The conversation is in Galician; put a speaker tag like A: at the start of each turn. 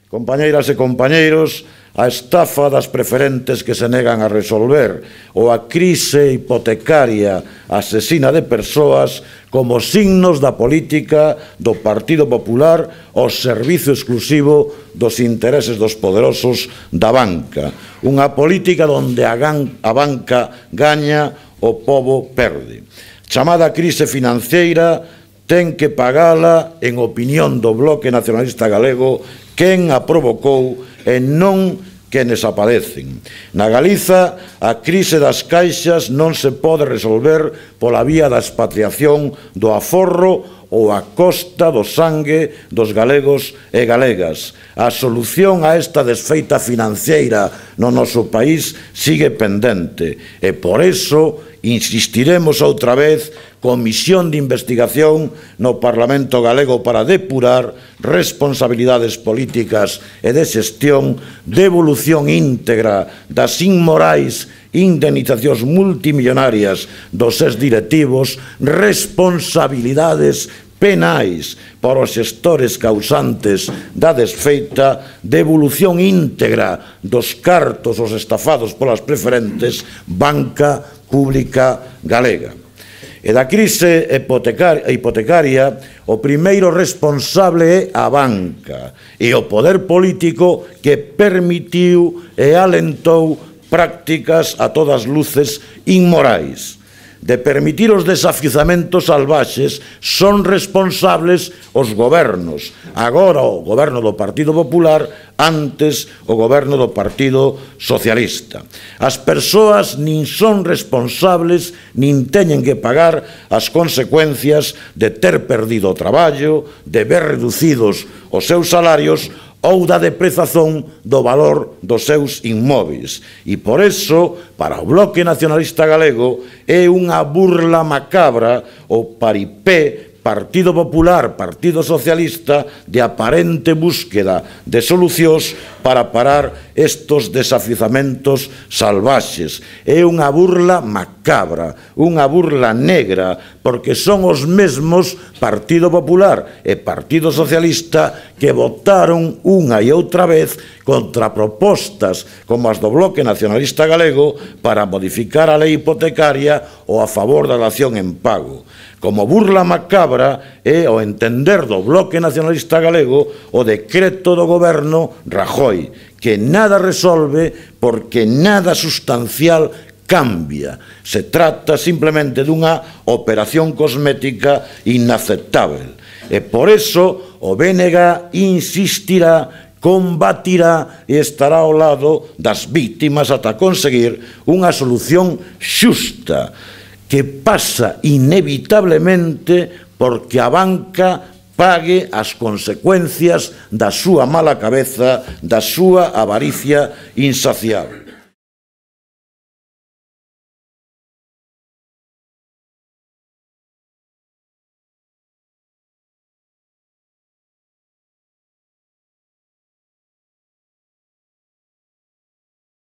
A: Compañeiras e compañeiros, a estafa das preferentes que se negan a resolver ou a crise hipotecaria asesina de persoas como signos da política do Partido Popular ao servizo exclusivo dos intereses dos poderosos da banca. Unha política onde a banca gaña, o pobo perde. Chamada crise financeira ten que pagala, en opinión do Bloque Nacionalista Galego, quen a provocou e non quenes a padecen. Na Galiza, a crise das caixas non se pode resolver pola vía da expatriación do aforro ou a costa do sangue dos galegos e galegas. A solución a esta desfeita financeira no noso país sigue pendente e por iso insistiremos outra vez comisión de investigación no Parlamento galego para depurar responsabilidades políticas e de xestión, devolución íntegra das inmorais indemnizacións multimillonarias dos exdirectivos, responsabilidades penais para os xestores causantes da desfeita, devolución íntegra dos cartos os estafados polas preferentes, banca pública galega. E da crise hipotecaria, o primeiro responsable é a banca e o poder político que permitiu e alentou prácticas a todas luces inmorais. De permitir os desafiuzamentos salvaxes son responsables os gobernos, agora o goberno do Partido Popular, antes o goberno do Partido Socialista. As persoas nin son responsables nin teñen que pagar as consecuencias de ter perdido o traballo, de ver reducidos os seus salarios ou da deprezazón do valor dos seus inmóveis. E por iso, para o Bloque Nacionalista Galego, é unha burla macabra o paripé Partido Popular, Partido Socialista, de aparente búsqueda de solucións para parar estos desafiuzamentos salvaxes. É unha burla macabra, unha burla negra, porque son os mesmos Partido Popular e Partido Socialista que votaron unha e outra vez contra propostas como as do Bloque Nacionalista Galego para modificar a lei hipotecaria ou a favor da dación en pago. Como burla macabra é, ao entender do Bloque Nacionalista Galego, o decreto do goberno Rajoy, que nada resolve porque nada sustancial cambia. Se trata simplemente dunha operación cosmética inaceptável. E por iso o BNG insistirá, combatirá e estará ao lado das vítimas ata conseguir unha solución xusta que pasa inevitablemente porque a banca pague as consecuencias da súa mala cabeza, da súa avaricia insaciable.